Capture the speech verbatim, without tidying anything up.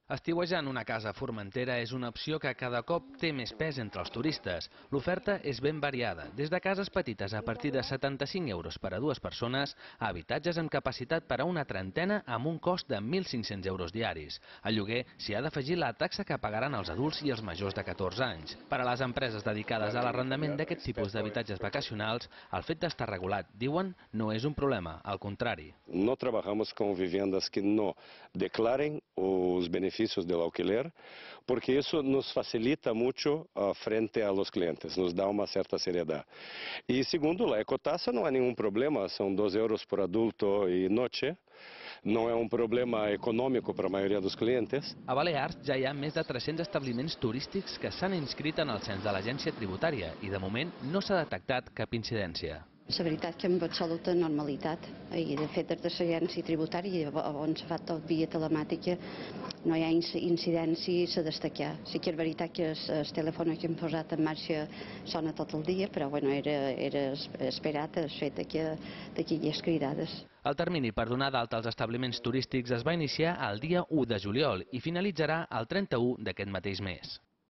Estiuejar una casa a Formentera és una opció que cada cop té més pes entre els turistes. L'oferta és ben variada, des de cases petites a partir de setanta-cinc euros per a dues persones a habitatges amb capacitat per a una trentena amb un cost de mil cinc-cents euros diaris. Al lloguer s'hi ha d'afegir la taxa que pagaran els adults i els majors de catorze anys. Per a les empreses dedicades a l'arrendament d'aquest tipus d'habitatges vacacionals, el fet d'estar regulat, diuen, no és un problema, al contrari. No trabajamos con viviendas que no declaren os beneficios del alquiler, porque eso nos facilita mucho uh, frente a los clientes, nos da uma certa seriedade. E segundo, a ecotasa não há nenhum problema, são doze euros por adulto e noche, não é um problema econômico para a maioria dos clientes. A Balears ja hi ha més de tres-cents establiments turístics que s'han inscrit en el cens de l'agència tributària i de moment no s'ha detectat cap incidència. La veritat que amb absoluta normalitat, i de fet des de l'agència tributària on s'ha fet tot via telemàtica no hi ha incidències a destacar. Sí que és veritat que el telèfon que hem posat en marxa sona tot el dia, però bueno, era, era esperat el fet que hi hagués cridades. El termini per donar d'alta als establiments turístics es va iniciar el dia u de juliol i finalitzarà el trenta-u d'aquest mateix mes.